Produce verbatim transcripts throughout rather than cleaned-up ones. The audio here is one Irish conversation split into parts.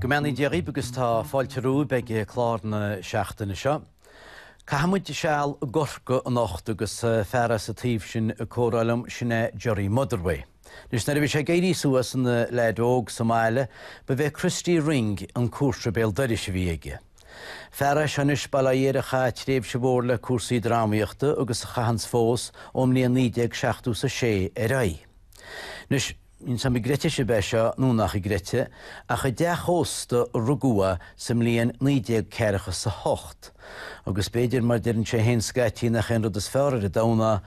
Go mbeannaí Dia dhaoibh agus tá fáilte romhaibh ag clár na seachtaine seo. Caithfidh muid seal i gCorcaigh anocht agus fear as an taobh sin ag comhrá liom, sin é Gerry Motherway. Anois nuair a bhí sé ag éirí suas ina leaid óg sa mbaile, ba bhé Christy Ring an cúrsa béal dorais a bhí aige. Fear é seo anois, bail ó Dhia air, a chaith tréimhse mhór le cúrsaí drámaíochta agus a chaitheanns fós ón mbliain naoi déag seachtó is a sé ar aghaidh. Anois, níl 's a'm an gcreidfidh sibh é seo nó nach gcreidfidh, ach i dteach ósta a rugadh é sa mbliain naoi déag ceathracha is a hocht. Agus b'fhéidir, mar deireann sé féin scaití, nach é an rud is fearr ar an domhan é,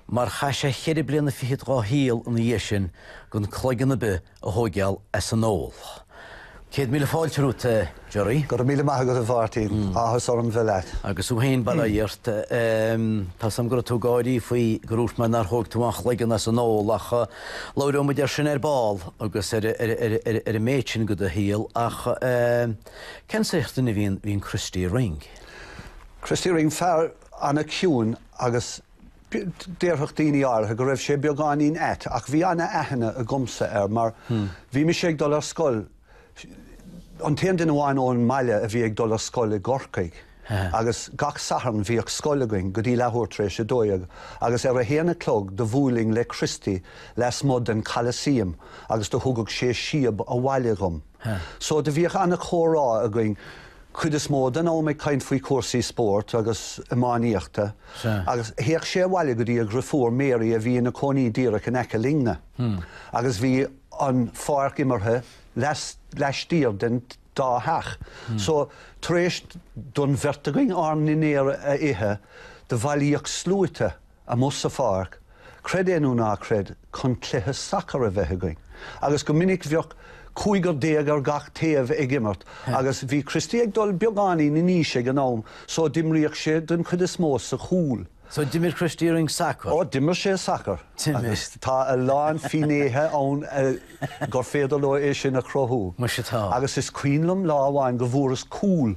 mar chaith sé cheithre bliana fichead dhá shaol ina dhiaidh sin gan cloigeann ar bith a thóigeáil as an ól. Céad míle fáilte romhat, a Gerry. Go raibh míle maith agat, a Mháirtín. Áthas orm bheith leat. Agus thú féin, bail ó Dhia ort. Tá 's a'm go raibh tú ag gáirí faoi gur dhúirt mé nár thóig tú aon chloigeann as an ól ach labhróidh muid air sin ar ball agus ar ar an méid sin de do shaol ach cén saghas duine a bhí in Christy Ring? Christy Ring, fear an-chiúin agus déarfadh daoine áirithe go raibh sé beagáinín ait ach bhí an-aithne agamsa air mar bhí mise ag dul ar scoil An t-aon duine amháin ón mbaile a bhí ag dul ar scoil i gCorcaigh agus gach Satharn bhíodh scoil againn go dtí leathuair tar éis a dó dhéag agus ar a haon a chlog do bhuailinn le Christy lasmuigh den Coliseum agus do thugadh sé síob abhaile dhom. So do bhíodh ana-chomhrá againn cuid is mó den am ag caint faoi chúrsaí spóirt agus iománaíochta agus théadh sé abhaile go dtí a dhriofúr Mary a bhí ina cónaí díreach in aice linne agus bhí an pháirc imeartha laistiar den dá theach. So, tar éis don bheirt againn ár ndinnéar a ithe, do bhailíodh sluaite amuigh sa pháirc, creid é nó ná creid, chun cluiche sacair a bheith againn. Agus go minic bheadh cúigear déag ar gach taobh ag imirt agus bhí Christy ag dul beagáinín in aois ag an am so d'imríodh sé den chuid is mó sa chúl. So d'imir Christy Ring sacar? Ó, d'imir sé sacar. D'imir. Agus tá a lán finnéithe ann gur féidir leo é sin a chruthú. Muise tá. Agus is cuimhin liom lá amháin go bhfuaireas cúl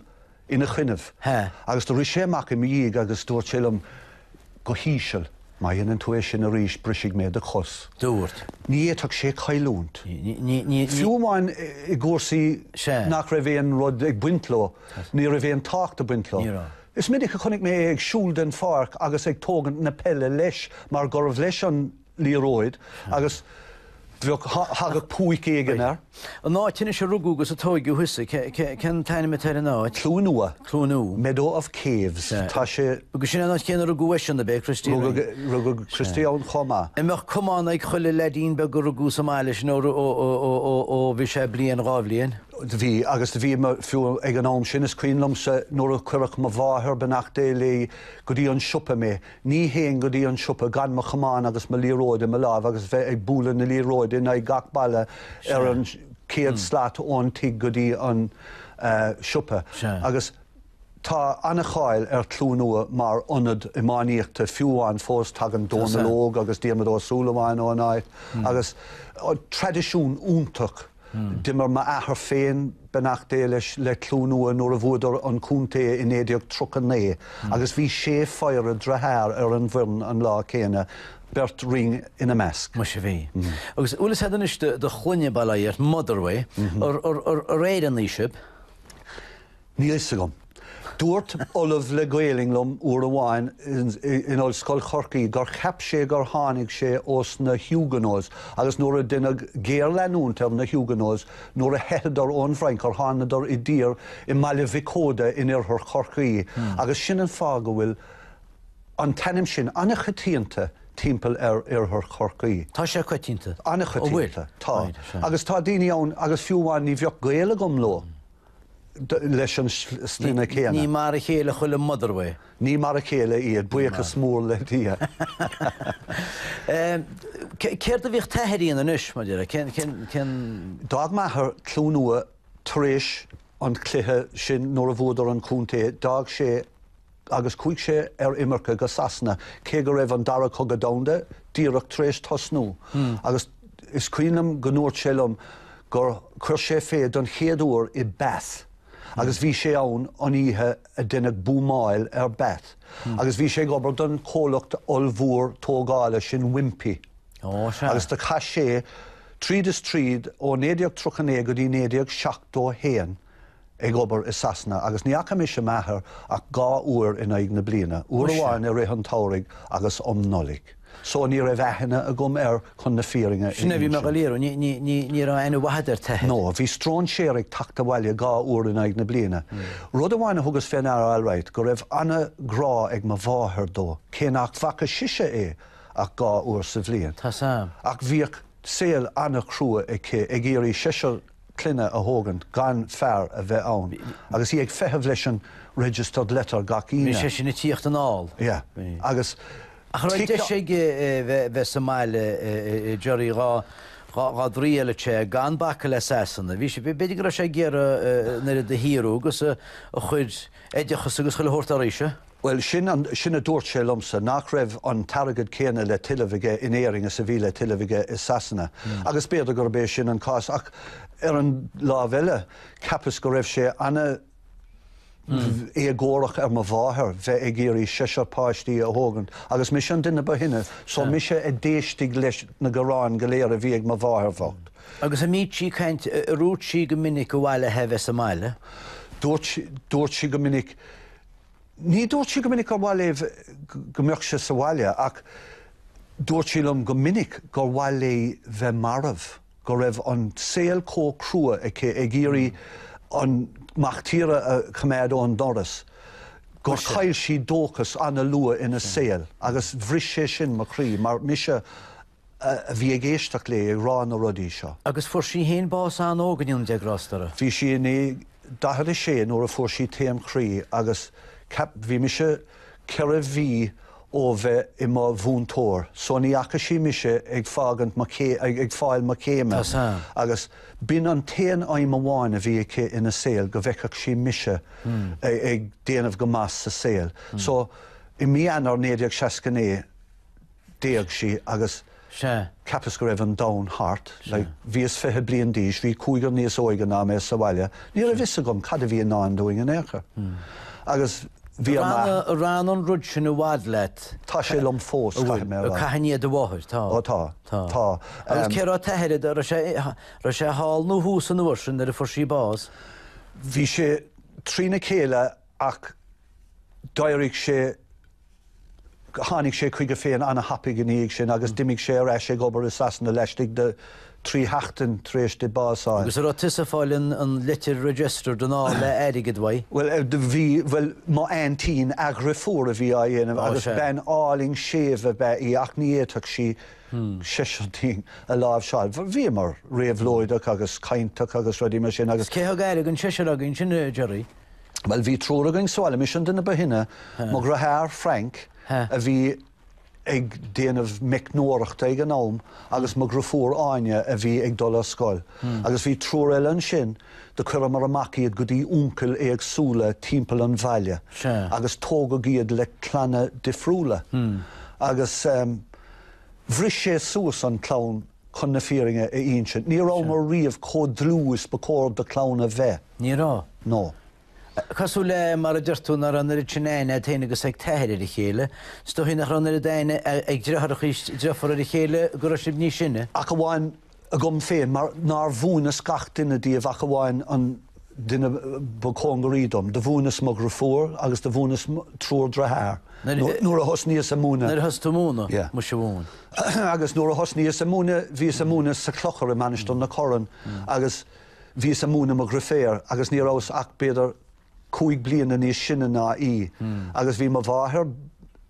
ina choinnibh. He. Agus do rith sé amach i mo dhiaidh agus dúirt sé liom go híseal, Má dhéanann tú é sin arís, brisfidh mé do chos. Dúirt. Ní fhéadfadh sé cailliúint. Ní, ní, ní, ní. Fiú amháin i gcúrsaí Sea. nach raibh aon rud ag baint leo, ní raibh aon tábhacht ag baint leo. Ní raibh. Is minic a chonaic mé é ag siúl den pháirc agus ag tógaint na peile leis mar gurbh leis an liathróid agus bheadh, thagadh púic éigin air. An áit anois a rugadh agus a tóigeadh thusa, cén t-ainm atá ar an áit? Cluain Umha. Cluain Umha. Meadow of Caves. Tá sé. Agus sin an áit chéanna a rugadh eisean, ab é, Christy Ring? Rugadh Christy ann chomh maith. An mbeadh camán ag chuile leaidín beag a rugadh sa mbaile sin ó bhí sé bliain, dhá bhliain? Do bhí, agus do bhí, fiú ag an am sin, is cuimhin liomsa nuair a chuireadh mo mháthair, beannacht Dé léi, go dtí an siopa mé, ní théinn go dtí an siopa gan mo chamán agus mo liathróid i mo láimh agus bheith ag bualadh na liathróide in aghaidh gach balla ar an chéad slat ón tigh go dtí an siopa. Agus tá an-cháil ar Chluain Umha mar ionad iománaíochta, fiú amháin fós tagann Dónal Óg agus Diarmuid Ó Súilleabháin ón áit agus traidisiún iontach. D'imir m'athair féin, beannacht Dé leis, le Cluain Umha nuair a bhuadar an contae i naoi déag tríocha naoi agus bhí sé phéire dearthár ar an bhfoireann an lá céanna, beirt Ring ina measc. Muise bhí. Agus bhfuil fhios a'd anois do shloinne, bail ó Dhia ort, Motherway, ar Éireannaigh sibh? Níl fhios agam. Dúirt Ollamh le Gaelainn liom uair amháin in Ollscoil Chorcaí gur cheap sé gur tháinig sé ós na Huguenots agus nuair a deineadh géarleanúint ar na Huguenots nuair a theitheadar ón bhFrainc gur thánadar i dtír i mBaile Mhic Óda in oirthear Chorcaí agus sin an fáth go bhfuil an t-ainm sin an-choitianta timpeall ar oirthear Chorcaí. Tá sé coitianta? An-choitianta. Tá. Agus tá daoine ann agus fiú amháin ní bheadh gaol agam leo. leis an sloinne céanna. Ní mar a chéile chuile Motherway. Ní mar a chéile iad, buíochas mór le Dia. Céard a bhíodh t'athair a dhéanamh anois, mar a déarfá? Cén, cén. D'fhág m'athair Cluain Umha tar éis an chluiche sin nuair a bhuadar an contae, d'fhág sé agus chuaigh sé ar imirce go Sasana, cé go raibh an Dara Cogadh Domhanda díreach tar éis tosnú. Agus is cuimhin liom go ndúirt sé liom gur chuir sé fé don chéad uair i Bath agus bhí sé ann an oíche a deineadh buamáil ar Bath agus bhí sé ag obair don chomhlacht ollmhór tógála sin Wimpey Ó, sea. agus do chaith sé Tríd is tríd ó naoi déag tríocha naoi go dtí naoi déag seachtó a haon ag obair i Sasana agus ní fhaca mise m'athair ach dhá uair in aghaidh na bliana, uair amháin i rith an tsamhraidh agus um Nollaig. So ní raibh aithne agam air chun na fírinne a Sin a bhí mé insint. ag iarraidh, ní, ní, ní raibh aithne mhaith agat ar t'athair. No, bhí stróinséir ag teacht abhaile dhá uair in aghaidh na bliana. Rud amháin a thugas fé ndeara alright, go raibh an-ghrá ag mo mháthair dó, cé nach bhfaca sise é ach dhá uair sa bhliain. Tá sam. Ach bhíodh saol an-chrua aici ag iarraidh seisear clainne a thógaint gan fear a bheith ann. Agus í ag feitheamh leis an registered letter gach Bhí Aoine. sé sin ag tíocht anall. Yeah. Bhí. Agus Ach raibh deis aige bheith bheith sa mbaile Jerry dhá dhá dtriail sé gan bacadh le Sasana. Bhí sé b'fhéidir go raibh sé ag iarraidh nuair a shaothrú agus a chuid oideachas agus chuile shórt arís. Well sin an, sin a dúirt sé liomsa nach raibh an t-airgead céanna le tuilleamh aige in Éirinn is a bhí le tuilleamh aige i Sasana. Mm. Agus b'fhéidir gurb é sin an cás ach ar an lámh eile ceapas go raibh sé ana mm. éagórach ar mo mháthair bheith ag iarraidh seisear páistí a thógaint agus mise an duine ba shine, so mise a d'éistigh leis na gearáin go léir a bhí ag mo mháthair bhocht. Agus a mí sí caint rút sí go minic go bhhaile bheith sa mbaile. Dúirt sí- dúirt sí go minic Ní dúirt sí go minic gur mhaith léi go mbeadh sé sa bhaile ach dúirt sí liom go minic gur mhaith léi bheith marbh, go raibh an saol chomh crua aici ag iarraidh an mac tíre a choimeád ón doras. Gur chaill sí dóchas an-luath ina saol agus bhris sé sin mo chroí mar mise a a bhí ag éisteacht léi ag rá na rudaí seo. Agus fuair sí féin bás an-óg a Dhiarmuid Grástara. Bhí sí in daichead a sé nuair a fuair sí taom chroí agus ceap bhí mise ceithre mhí ó bheith i mo mhúinteoir, so ní fhaca sí mise ag fágaint ag, ag fáil mo chéime. Tá sam. Agus b'in an t-aon aidhm amháin a bhí aici ina saol go bhfeicfeadh sí mise mm. ag, ag déanamh go maith sa saol. Mm. So i mí Eanáir naoi déag seasca naoi d'éag sí agus Se. Ceapas go raibh an domhan thart, like, bhíos fiche bliain d'aois, bhí cúigear níos óige ná mé sa bhaile, ní raibh fhios agam cad a bhí i ndán dúinn in aon chor. Agus bhí an Ran an rud sin i bhfad leat. Tá sé liom fós caithfidh mé a rá. Caithfidh do mháthair, tá. Ó tá, Tá. tá. Agus cé raibh t'athair raibh sé raibh sé thall nó thuas an uair sin nuair a fuair sí bás. Bhí sé trína chéile ach d'éirigh sé tháinig sé chuige féin an-thapaidh ina dhiaidh sin agus d'imigh sé ar ais ag obair i Sasana laistigh de trí sheachtain tar éis di bás a fháil. Agus a raibh tusa ag fáil an, an litir registered anall le airgead uaidh. Well eh, do bhí well mo aintín a dheirfiúr a bhí á dhéanamh Ó, agus sé. bean álainn séimh ab ea í ach ní fhéadfadh sí seisear dínn a láimhseáil. Bhíomar réabhlóideach agus cainteach agus rudaí mar sin agus Cé thug aire don seisear againn sin a Jerry? Well bhí triúr againn sa bhaile mise an duine ba shine, mo dheartháir Frank Ha. a bhí ag déanamh meicneoireachta ag an am agus mo dheirfiúr Áine a bhí ag dul ar scoil. Agus bhí triúr eile ansin do chuireamar amach iad go dtí uncail éagsúla timpeall an bhaile. Se. Agus tógadh iad le clanna difriúla. Agus um, bhris sé suas an clann chun na fírinne a insint. Ní rabhamar riamh chomh dlúth is ba chóir do chlann a bheith. Ní raibh. No. Cosúil le mar a deir tú nach raibh an oiread sin aithne agat féin agus ag t'athair ar a chéile, Is dóigh nach raibh an oiread aithne ag deartháireacha is deirfiúr ar a chéile go raibh sibh níos sine. Ach amháin agam féin mar nár mhúineas gach duine díobh ach amháin an duine ba chóngaraí dom, do mhúineas mo dheirfiúr agus do mhúineas triúr deartháir. Nuair Nuair a thosnaíos ag múineadh. Nuair a thosaigh tú ag múineadh, Yeah. muise mhóin. agus nuair a thosnaíos ag múineadh bhíos ag múineadh sa chlochar i Mainistir na Corann agus bhíos ag múineadh mo dheirfiúr agus ní rabhas ach b'fhéidir cúig bliana níos sine ná í. Agus bhí mo mháthair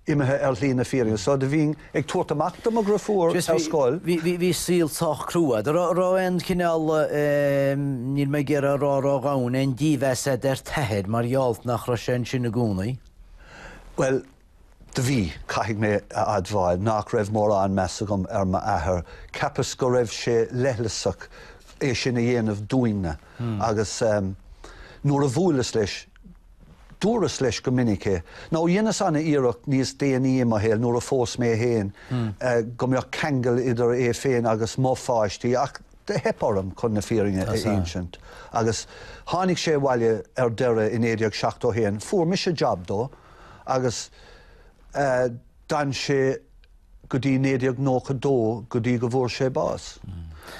imithe ar shlí na fírinne. So do bhínn ag tabhairt amach do mo dheirfiúr Just ar bhí- scoil. Bhí bhí bhí saol sách crua. Raibh raibh aon chineál níl mé ag iarraidh a rá ró-dhomhain aon dímheas agat ar t'athair mar gheall nach raibh sé ansin i gcónaí. Well, do bhí caithfidh mé a admháil nach raibh mórán meas agam ar m'athair. Ceapas go raibh sé leithleasach é sin a dhéanamh dúinne. Agus um, nuair a bhuaileas leis, dúras leis go minic é. Nó dhéanas an-iarracht níos déanaí i mo shaol nuair a phós mé féin uh, go mbeadh ceangal idir é féin agus mo pháistí ach do theip orm chun na fírinne a Tá insint. Agus tháinig sé abhaile ar deireadh i naoi déag seachtó haon, fuair mise job dó agus uh, d'fhan sé go dtí naoi déag nócha dó go dtí go bhfuair sé bás.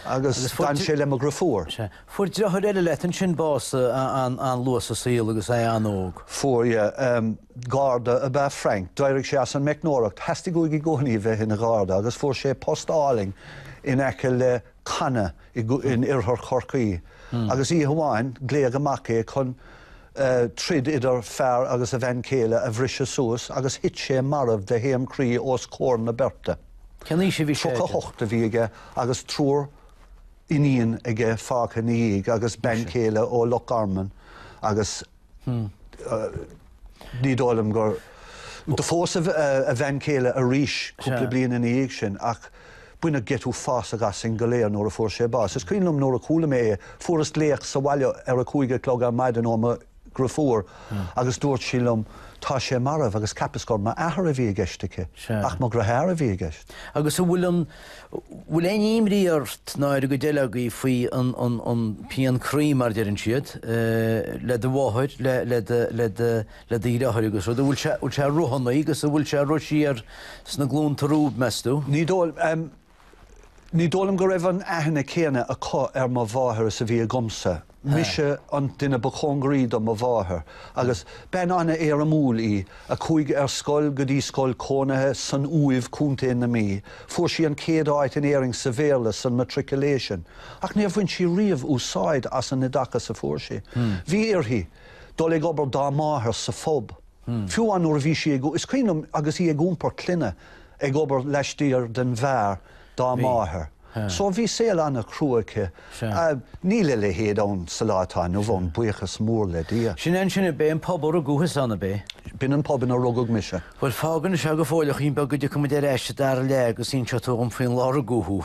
Agus d'fhan sé le mo dheirfiúr. Fuair deartháir eile leat ansin bás an-luath sa saol agus é an-óg. Fuair, yeah. Garda ab ea Frank. D'éirigh sé as an meicneoireacht. Theastaigh uaidh i gcónaí bheith ina gharda agus fuair sé post álainn in aice le Canna in oirthear Chorcaí. Agus oíche amháin, glaodh amach é chun troid idir fear agus a bhean chéile a bhriseadh suas agus thit sé marbh de thaom croí os comhair na beirte. Cén aois a bhí sé? Tríocha a hocht a bhí aige agus triúr iníon aige fágtha ina dhiaidh agus bean chéile ó Loch Garman agus ní dóigh liom gur Do phós a bhean chéile arís cúpla bliain ina dhiaidh sin ach baineadh geit uafásach asainn go léir nuair a fuair sé bás. Is cuimhin liom nuair a chuala mé é, fuaireas glaoch sa bhaile ar a cúig a chlog ar maidin ó mo dheirfiúr agus dúirt sí liom, 'Tá sé marbh' agus cheapas gur m'athair a bhí i gceist aici, ach mo dheartháir a bhí i gceist. Agus an bhfuil an, bhfuil aon imní ort ná ar an gcuid eile agaibh faoi an, an, an pian croí mar a deireann siad, le do mháthair, le, le do, le do, le do dheartháir agus rud, an bhfuil sé, bhfuil sé ag rith anonn agus an bhfuil sé ag rith siar sna glúnta romhaibh, meas tú? Ní dóigh, ní dóigh liom go raibh an aithne céanna acu ar mo mháthair is a bhí agamsa. Mise an duine ba chóngaraí do mo mháthair agus bean an-éirimiúil í a chuaigh ar scoil go dtí scoil cónaithe san Uaimh, Contae na Mí. Fuair sí an chéad áit in Éirinn sa Bhéarla san matriculation ach níor bhain sí riamh úsáid as an oideachas a fuair sí. Bhí uirthi dul ag obair dá máthair sa phub. Fiú amháin nuair a bhí sí ag, is cuimhin liom agus í ag iompar clainne ag obair laistiar den bheár dá máthair. So bhí saol an-chrua aici. Níl a leithéid ann sa lá atá inniu ann, buíochas mór le Dia. Sin é ansin, ab é an pub a rugadh thusa ann, ab é? B'in an pub ina rugadh mise. Bhuel, fág anois é go fóill a chaoin beag go dtiocfaidh muid ar ais sa dara leath agus inseoidh tú dhom faoin lá a rugadh thú.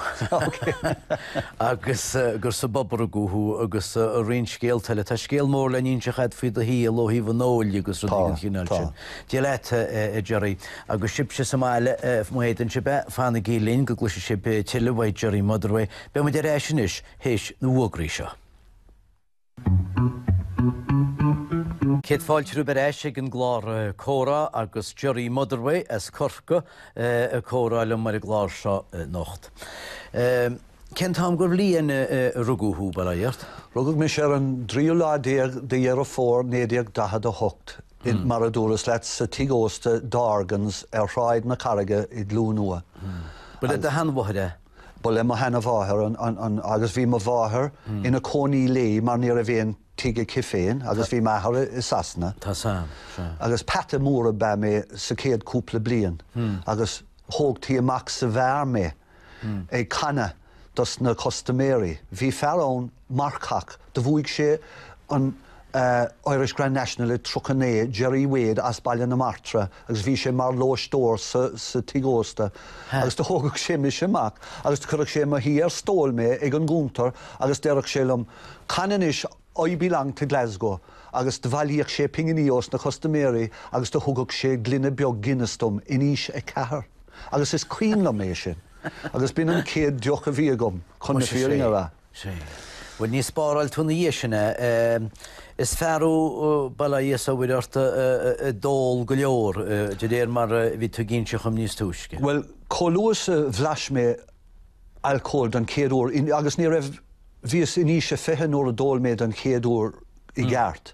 Agus gur sa bpub a rugadh thú agus roinnt scéalta eile. Tá scéal mór le n-inseacht agat faoi do shaol ó thaobh an óil agus rudaí den chineál sin. Dia leat, a Gerry. Agus sibhse sa mbaile, má fhéadann sibh é, fanaigí linn go gcloisfidh sibh tuilleadh uaidh Gerry Motherway. Beidh muid ar ais anois théis na bhfógraí seo. Céad fáilte romhaibh ar ais ag an gclár Comhrá agus Gerry Motherway as Corcaigh ag comhrá liom ar an gclár seo anocht. Cén t-am den bhliain a rugadh thú, bail ó Dhia ort? Rugadh mise ar an dtríú lá déag de Dheireadh Fómhair naoi déag daichead a hocht, mar a dúras leat, sa tigh ósta Dorgans ar Shráid na Carraige i gCluain Umha. Ba le do sheanmháthair é? Ba le mo sheanmháthair an, agus bhí mo mháthair ina cónaí léi mar ní raibh aon tigh aici féin agus bhí m'athair i Sasana. Tá sam, sea. Agus peata mór ab ea mé sa chéad cúpla bliain agus thógtaí amach sa bheár mé. ag canadh dos na custaiméirí. Bhí fear ann, marcach, do bhuaigh sé an Irish Grand National i tríocha naoi, Gerry Wade as Baile na Martra agus bhí sé mar lóisteoir sa sa tigh ósta agus do thógadh sé mise amach agus do chuireadh sé i mo shuí ar stól mé ag an gcuntar agus deireadh sé liom, Can anois I belong to Glasgow agus do bhailíodh sé pinginí ós na custaiméirí agus do thugadh sé gloine beag Guinness dom in aois a ceathair. Agus is cuimhin liom é sin. Agus b'in an chéad deoch a bhí agam, chun na fírinne a rá. Sea. Bhuel, níor spáráil tú ina dhiaidh sin é. Is fear thú, bail ó Dhia is ó Mhuire ort, a d'ól go leor, de réir mar a bhí tú ag inse dhom níos túisce. Bhuel, chomh luath is a bhlais mé alcól don chéad uair, agus ní raibh, bhíos in aois a fiche nuair a d'ól mé don chéad uair i gceart.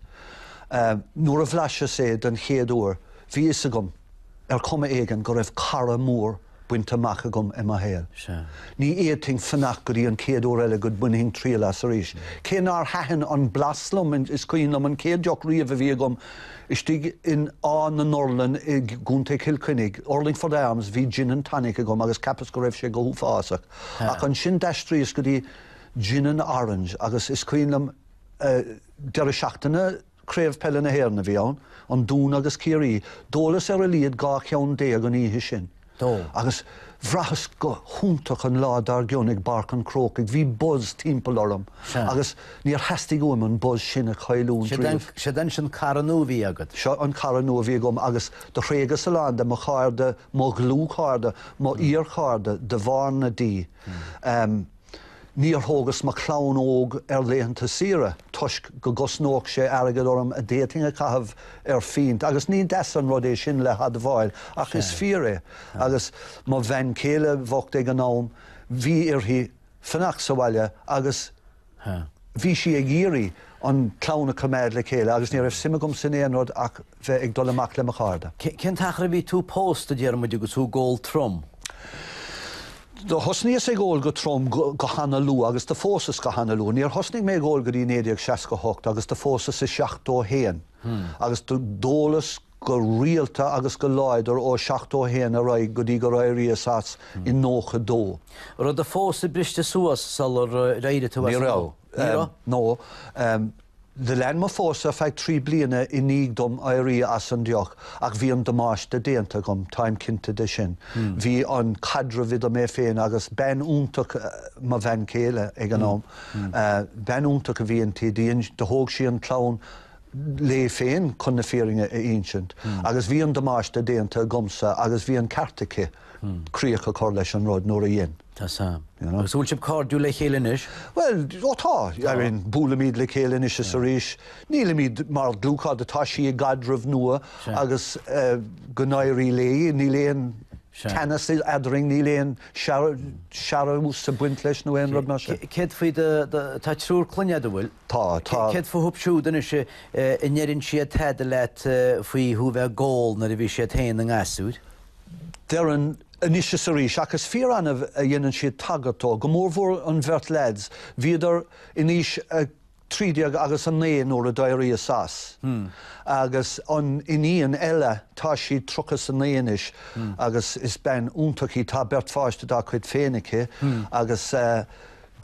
Nuair a bhlaiseas é don chéad uair, bhí fhios agam, ar chuma éigin, go raibh cara mór bainte amach agam i mo shaol. Ní fhéadfainn fanacht go dtí an chéad uair eile go mbainfinn triail as arís. Cé nár thaitin an blas liom, is cuimhin liom an chéad deoch riamh a bhí agam istigh in Áth na nUrlainn i gContae Chill Chainnigh, Urlingford Arms, bhí gin and tonic agam agus cheapas go raibh sé go huafásach. Ach ansin d'aistríos go dtí gin and orange agus is cuimhin liom deireadh seachtaine, Craobh Peile na hÉireann a bhí ann, an Dún agus Ciarraí. D'ólas ar a laghad dhá cheann déag an oíche sin. Agus bhraitheas go hiontach an lá dár gcionn i bPáirc an Chrócaigh. Bhí buzz timpeall orm agus níor theastaigh uaim an buzz sin a chailliúint riamh. Siod é ansin cara nua a bhí agat. Seo an cara nua a bhí agam agus do thréigeas a lán de mo chairde, mo dhlúthchairde, mo fhíorchairde de bharr na dí. Níor thógas mo chlann óg ar laethanta saoire toisc go gcosnódh sé airgead orm a d'fhéadfainn a chaitheamh ar phínt, agus ní deas an rud é sin le hadmháil, ach is fíor é. Agus mo bhean chéile bhocht ag an am, bhí uirthi fanacht sa bhaile agus bhí sí ag iarraidh an clann a choimeád le chéile agus ní raibh suim agam san aon rud ach bheith ag dul amach le mo chairde. Cén t-achar a bhí tú pósta, Diarmuid, agus tú ag ól trom? Do thosnaíos ag ól go trom go hana-luath agus do phósas go hana-luath. Níor thosnaigh mé ag ól go dtí naoi déag seasca hocht agus do phósas i seachtó haon agus d'ólas go rialta agus go láidir ó seachtó haon ar aghaidh go dtí gur éiríos as i nócha dó. Raibh do phósadh briste suas sular éirigh tú as? Ní raibh. Ní raibh? No. Do lean mo phósadh ar feadh trí bliana i ndiaidh dom éirí as an deoch ach bhí an damáiste déanta agam, táim cinnte de sin. Bhí an caidreamh idir mé féin agus bean iontach, mo bhean chéile ag an am, bean iontach a bhí inti, do thóg sí an chlann léi féin chun na fírinne a insint agus bhí an damáiste déanta agamsa agus bhí an ceart aici críoch a chur leis an rud nuair a dhein. Tá sam. You know? Agus bhfuil sibh cairdiúil le chéile anois? Bhuel, ó tá. I mean, buailimid le chéile anois is arís. Nílimid mar dlúthchairde, tá sí i gcaidreamh nua agus go n-éirí léi, níl aon teannas eadrainn, níl aon searús ag baint leis nó aon rud mar sin. Céard faoi do, tá triúr clainne agat, an bhfuil? Tá, tá. Céard fúthu siúd anois, an ndeireann siad tada leat faoi thú bheith ag ól nuair a bhí siad féin ina ngasúir? Deireann anois is arís, ach is fíor-annamh a dhéanann siad tagairt dó, go mórmhór an bheirt leaids. Bhíodar in aois a trí déag agus a naoi nuair a d'éiríos as. Agus an iníon eile, tá sí tríocha is a naoi anois agus is bean iontach í, tá beirt pháiste dá cuid féin aici agus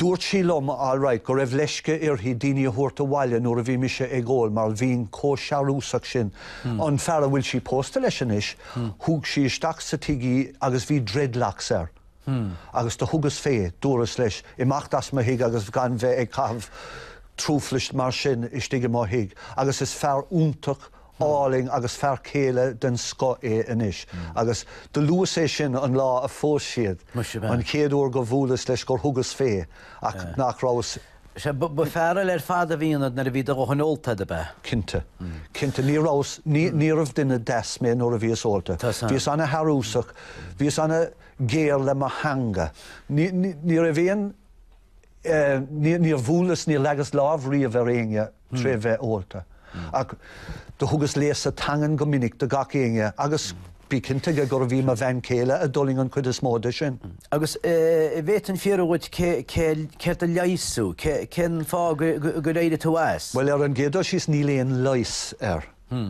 dúirt sí liom, all right, go raibh leisce uirthi daoine a thabhairt abhaile nuair a bhí mise ag ól mar bhínn chomh searúsach sin. An fear a bhfuil sí pósta leis anois, thug sí isteach sa tigh í agus bhí dreadlocks air. Agus do thugas fé, dúras leis, imeacht as mo thigh agus gan bheith ag caitheamh truflais mar sin istigh i mo thigh. Agus is fear iontach álainn agus fear céile den scoth é anois. Agus do luas é sin an lá a phós siad, an chéad uair go bhuaileas leis gur thugas fé, ach nach rabhas. Sea, ba fear eile ar fad a bhí ionat nuair a bhí do dhóthain ólta agat, ab ea? Cinnte. Cinnte. Ní rabhas, níorbh duine deas mé nuair a bhíos ólta. Bhíos ana-shearúsach, bhíos ana-ghéar le mo theanga. Ní raibh aon, níor bhuaileas, níor leagas lámh riamh ar éinne tré bheith ólta. Ach do thugas léasadh teangan go minic do gach éinne agus bí cinnte de gurbh í mo bhean chéile a d'fhulaing an chuid is mó de sin. Agus an bhféadfainn fiafraí dhuit céard a leigheas thú, cén fáth gur éirigh tú as? Bhuel, ar an gcéad dul síos níl aon leigheas air.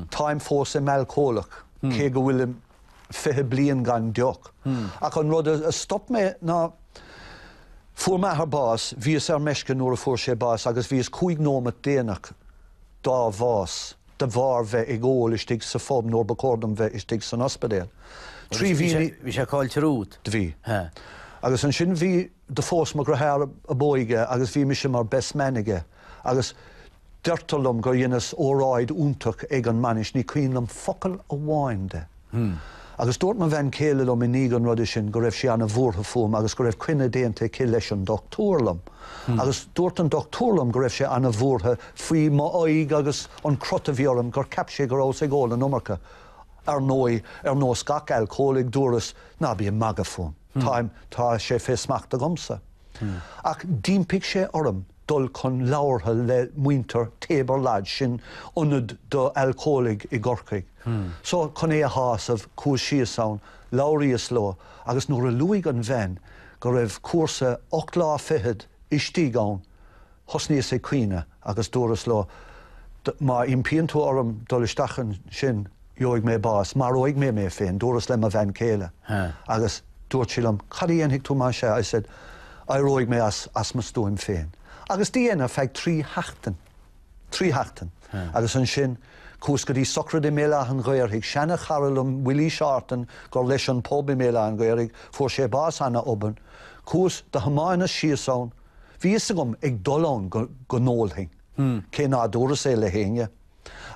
Táim fós i m'alcólach, cé go bhfuilim fiche bliain gan deoch. Ach an rud a stop mé ná fuair m'athair bás, bhíos ar meisce nuair a fuair sé bás agus bhíos cúig nóimeat déanach dá bhás de bharr bheith ag ól istigh sa phub nuair ba chóir dom bheith istigh san ospidéal. Trí mhí. Bhí sé caillte romhat? Do bhí. Agus ansin bhí, do phós mo dheartháir ab óige agus bhí mise mar best man aige agus deirtear liom gur dheineas óráid iontach ag an mbainis, ní cuimhin liom focal amháin de. Agus dúirt mo bhean chéile liom i ndiaidh an ruda sin go raibh sí ana-bhuartha fúm agus go raibh coinne déanta aici leis an dochtúir liom. Agus dúirt an dochtúir liom go raibh sé ana-bhuartha faoi m'aghaidh agus an crot a bhí orm, gur cheap sé go rabhas ag ól an iomarca. Ar ndóigh, ar nós gach alcólaigh, dúras, ná bí ag magadh fúm. Táim, tá sé fé smacht agamsa. Ach d'impigh sé orm dul chun labhartha le muintir Tabor Lodge, sin ionad do alcólaigh i gCorcaigh. So, chun é a shásamh, chuas síos ann, labhraíos leo, agus nuair a luaigh an bhean go raibh cúrsa ocht lá fichead istigh ann, thosnaíos ag caoineadh agus dúras leo, má impíonn tú orm dul isteach ansin, gheobhaidh mé bás, maróidh mé mé féin, dúras le mo bhean chéile. Agus dúirt sí liom, cad a dhéanfaidh tú más ea? I said, éireoidh mé as, as mo stuaim féin. Agus do dhein ar feadh trí sheachtain. Trí sheachtain. Agus ansin, chuas go dtí sochraid i mBéal Átha an Ghaorthaidh, seana-chara liom, Willie Shorten, gur leis an pub i mBéal Átha an Ghaorthaidh, fuair sé bás ana-obann. Chuas, do thiomáineas síos ann. Bhí fhios agam ag dul ann go, go n-ólfainn, cé ná dúras é le héinne.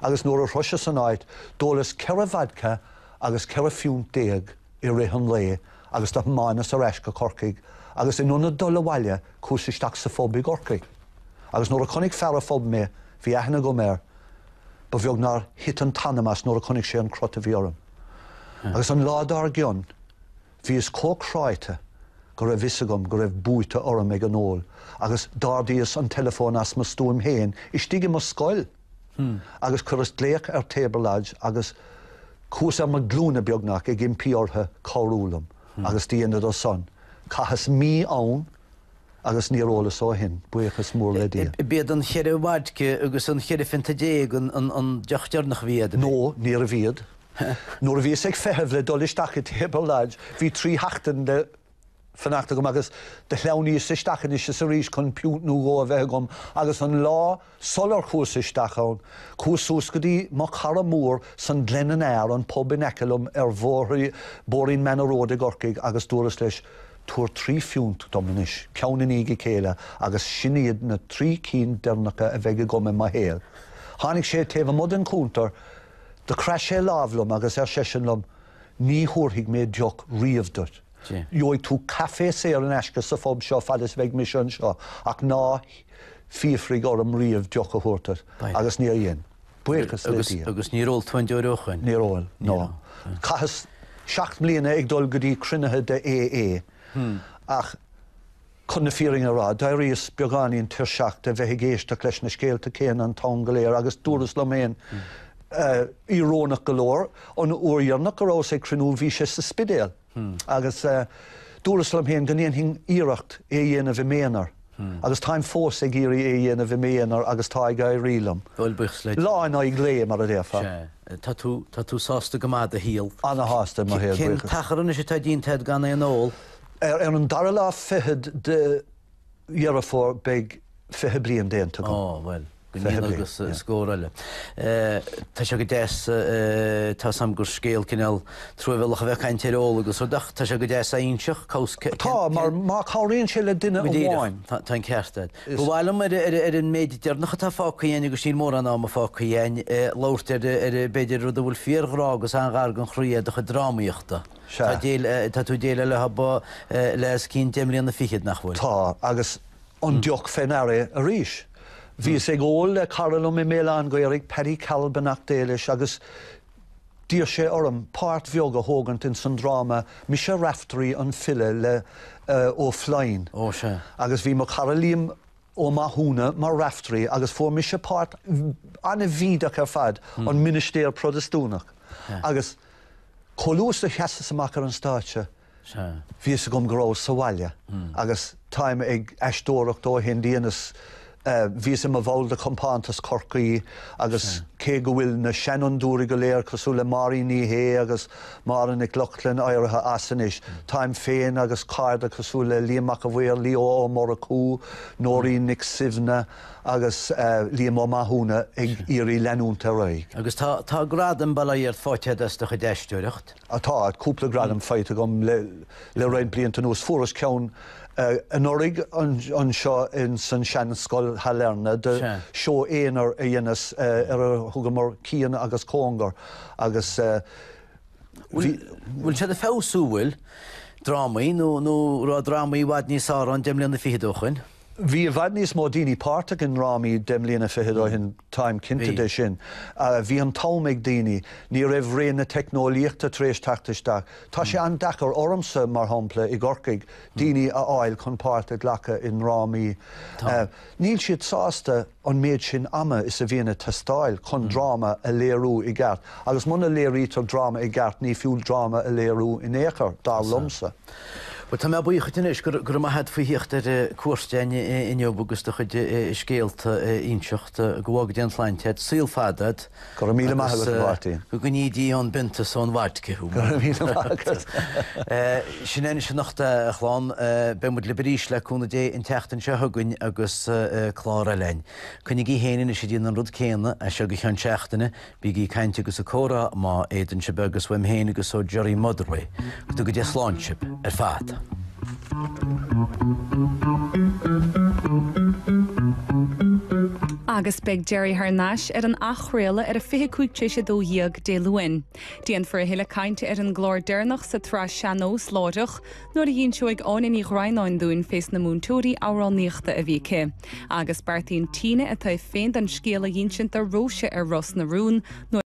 Agus nuair a shroiseas an áit, d'ólas ceithre vodka agus ceithre phiúnt déag i rith an lae agus do thiomáineas ar ais go Corcaigh agus in ionad dul abhaile, chuas isteach sa phub i gCorcaigh. Agus nuair a chonaic fear an phub mé, bhí aithne agam air, ba bheag nár thit an t-anam as nuair a chonaic sé an crot a bhí orm. Agus an lá dár gcionn, bhíos chomh cráite go raibh fhios agam go raibh buaite orm ag an ól agus d'ardaíos an teileafón as mo stuaim féin istigh i mo scoil agus chuireas glaoch ar Tabor Lodge agus chuas ar mo ghlúine beagnach ag impí orthu cabhrú liom agus dheineadar san. Chaitheas mí ann agus níor ólas ó shin, buíochas mór le Dia. B'iad an cheithre vodka agus an cheithre phionta déag an deoch deireanach a bhí agat? No, níorbh iad. Nuair a bhíos ag feitheamh le dul isteach i Tabor Lodge, bhí trí sheachtain le fanacht agam agus do shleamhnaíos isteach anois is arís chun piúnt nó dhó a bheith agam agus an lá sular chuas isteach ann, chuas suas go dtí mo chara mór san Glen and Ayre, an pub in aice liom ar bhóithrín Manor Road i gCorcaigh agus dúras leis, Tabhair trí phiúnt dom anois, ceann i ndiaidh a chéile agus sin iad na trí cinn deireanacha a bheidh agam i mo shaol. Tháinig sé taobh amuigh den chuntar, do chraith sé lámh liom agus ar seisean liom, Ní thabharfaidh mé deoch riamh duit. Gheobhaidh tú caife saor in aisce sa phub seo fad is a bheidh mise anseo, ach ná fiafraigh orm riamh deoch a thabhairt duit. Agus níor dhein. Buíochas le Dia. Agus níor ól tú aon deoir ó shoin? Níor ól, no. Chaitheas seacht mbliana ag dul go dtí cruinnithe de AA, ach chun na fírinne a rá, d'éiríos beagáinín tuirseach de bheith ag éisteacht leis na scéalta céanna an t-am go léir agus dúras liom féin, íorónach go leor, an uair dheireanach go rabhas ag cruinniú bhí sé sa Spidéal agus dúras liom féin go ndéanfainn iarracht é a dhéanamh i m'aonar agus táim fós ag iarraidh é a dhéanamh i m'aonar agus tá ag éirí liom. Bhuel, buíochas le Dia. Lá in aghaidh lae, mar a déarfá. Sea. Tá tú, tá tú sásta go maith i do shaol. Ana-shásta i mo shaol, Cén buíochas. t-achar anois atá déanta agat gan aon ól? Ar an dara lá fichead de Dheireadh Fómhair beidh fiche bliain déanta agam. Ó, bhuel, go ndéana agus scór eile. Tá sé go deas, tá 's a'm gur scéal cineál truamhéalach a bheith ag caint ar ól agus rud ach tá sé go deas a inseacht, cos cén. Tá, mar má chabhraíonn sé le duine amháin. Tá an ceart agat. Ba mhaith liom ar an méid deireanach atá fágtha againn agus níl mórán ama fágtha againn, labhairt ar, b'fhéidir, rud a bhfuil fíorghrá agus an-ghar don chroí é do chuid drámaíochta. Sea. Tá tú ag déileáil leo le os cionn deich mbliana fichead, nach bhfuil? Tá, agus an deoch fé ndeara arís. Bhíos ag ól le cara liom i mBéal Átha an Ghaorthaidh, Paddy Carroll, beannacht Dé leis, agus d'iarr sé orm páirt bheag a thógaint ins an dráma Mise Raiftearaí an File le Ó Floinn. Ó, sea. Agus bhí mo chara Liam Ó Mathúna mar Raiftearaí agus fuair mise páirt an-bhídeach ar fad, an ministéir Protastúnach. Agus Chomh luath is a sheasas amach ar an stáitse, bhí fhios agam go rabhas sa bhaile agus táim ag aisteoireacht ó shin. Dheineas, bhíos i mo bhall de Chompántas Chorcaí agus cé go bhfuil na seanfhondúirí go léir cosúil le Máirín Ní Shé agus Máire Nic Lochlainn éirithe as anois, táim féin agus cairde cosúil le Liam Mac a' Mhaoir, Leo Ó Murchú, Nóirín Nic Suibhne agus Liam Ó Mathúna ag iarraidh leanúint ar aghaidh. Agus tá, tá gradam, bail ó Dhia ort, faighte agat as do chuid aisteoireacht. Tá, cúpla gradam faighte agam le, le roinnt blianta anuas. Fuaireas ceann anuraidh anseo in san seanscoil Shailearna do seó aonair a dheineas ar a thugamar Cian agus Cóngar agus bhí. Bhfuil siad ag feabhsú, bhfuil? Drámaí, nó, nó raibh drámaí i bhfad níos fearr ann deich mbliana fichead ó shoin? Bhí i bhfad níos mó daoine páirteach i ndrámaí deich mbliana fichead ó shin, táim cinnte de sin. Bhí an t-am ag daoine, ní raibh ré na teicneolaíochta tar éis teacht isteach. Tá sé an-deacair ormsa, mar shampla, i gCorcaigh, daoine a fháil chun páirt a ghlacadh i ndrámaí. Níl siad sásta an méid sin ama is a bhíonn ag teastáil chun dráma a léiriú i gceart. Agus muna léirítear dráma i gceart, ní fiú dráma a léiriú in aon chor, dar liomsa. Bhuel, tá mé buíoch duit anois, go raibh maith agat faoi theacht ar cuairt againn inniu agus do chuid scéalta a inseacht. Go bhfága Dia an tsláinte agat, saol fada agat. Go raibh míle maith agat, a Mháirtín. Go gcoinní Dia ón bpionta is ón vodka thú. Go raibh míle maith agat. Sin é anois anocht a chlann. Beidh muid libh arís le cúnamh Dé an tseachtain seo chugainn agus clár eile againn. Coinnigí féin anois ag déanamh an rud céanna as seo go ceann seachtaine. Bígí ag caint agus ag comhrá má fhéadann sibh agus uaim féin agus ó Gerry Motherway. Go dtuga Dia slán sibh ar fad. Agus beidh Gerry thar n-ais ar an athchraoladh ar a fiche cúig tar éis a dó dhéag Dé Luain. Déanfar a thuilleadh cainte ar an gclár deireanach sa tsraith Sean-Nós láithreach nuair a dh'inseoidh Áine Ní Dhroighneáin dúinn fés na múinteoirí amhránaíochta a bhí aici. Agus beartaíonn Tina a taobh féin den scéal a dh'insint do Róise ar Ros na Rún nuair